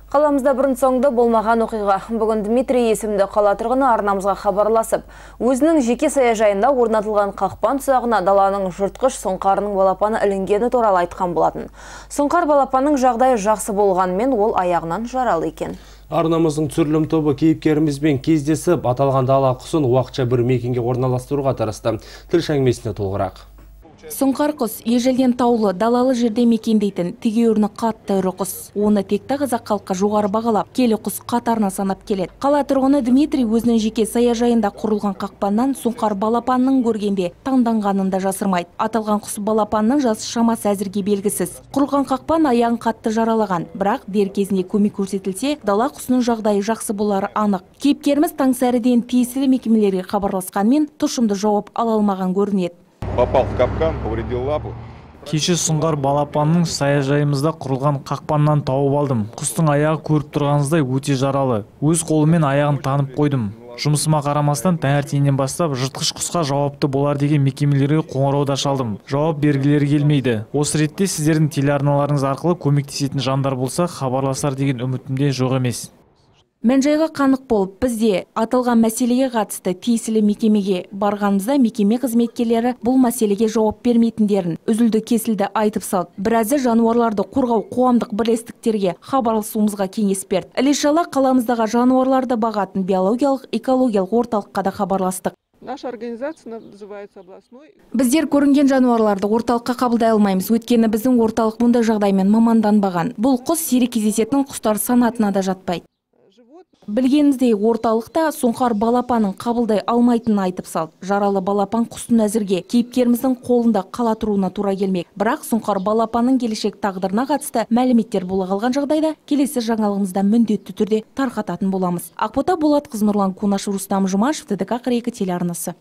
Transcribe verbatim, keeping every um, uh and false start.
Қаламызда бұрын соңды болмаған оқиға. Бүгін Дмитрий есімді қала тұрғыны арнамызға хабарласып, өзінің жеке саяжайында орнатылған қақпан тұсағына даланың жыртқыш сұңқарының балапаны ілінгені туралы айтқан болатын. Сұңқар балапанның жағдайы жақсы болғанымен ол аяғынан жаралы екен. Арнамыздың түсірілім тобы кейіпкерімізбен кездесіп, аталған дала құсын уақытша бір мекенге орналастыруға тырысты. Тілші әңгімесіне толығырақ. Сұңқар құс ежелден таулы, далалы жерде мекендейтін тегеуріні қатты ірі құс. Оны текті қазақ халқы жоғары бағалап, келі құс қатарына санап келеді. Қала тұрғыны Дмитрий өзінің жеке саяжайында құрылған қақпаннан сұңқар балапанның көргенде таңданғанын да жасырмайды. Аталған құс балапанның жасы шамасы әзірге белгісіз. Құрылған қақпан аяғын қатты жаралаған, бірақ дер кезінде көмек көрсетілсе, дала құсының жағдайы жақсы болары анық. Кейіпкеріміз таңсәріден тиесілі мекемелерге хабарласқанмен тұшымды жауап ала алмаған көрінеді. Попал в капкан, повредил лапу. Кеше сұңғар балапанның саяжайымызда құрылған қақпаннан тауып алдым. Құстың аяғы көріп тұрғаныңыздай өте жаралы. Өз қолымен аяғын танып қойдым. Жұмысыма қарамастан таңертеңнен бастап жыртқыш құсқа жауапты болар деген мекемелерге қоңырауда шалдым. Жауап бергілері келмейді. Осы ретте сіздердің телеарналарыңыз арқылы көмектесетін жандар болса, хабарласар деген үмітімде жоқ емес. Мән-жайға қанық болып, бізде аталған мәселеге қатысты тиесілі мекемеге барғанымызда мекеме қызметкерлері бұл мәселеге жауап бермейтіндерін үзілді кесілді айтып салды. Біразы жануарларды қорғау қоғамдық бірлестіктерге хабарласуымызға кеңес берді. Іле-шала қаламыздағы жануарларды бағатын биологиялық экологиялық орталыққа да хабарластық. Наша организация называется областной. Біздер көрінген жануарларды орталыққа қабылдай алмаймыз, өйткені біздің орталық мұндай жағдаймен маманданбаған. Бұл құс сирек кездесетін құстар санатына да жатпайды. Білгеніміздей орталықта сұңқар балапанын қабылдай алмайтынын айтып салды. Жаралы балапан құстың әзірге кейіпкеріміздің қолында қала тұруына тура келмек. Бірақ сұңқар балапанның келешек тағдырына қатысты мәліметтер бола қалған жағдайда келесі жаңалығымызда міндетті түрде тарқататын боламыз. Ақбота Болатқызы, Нұрлан Кунашев, Рустам Жұмашев, Т Д К қырық екі телеарнасы.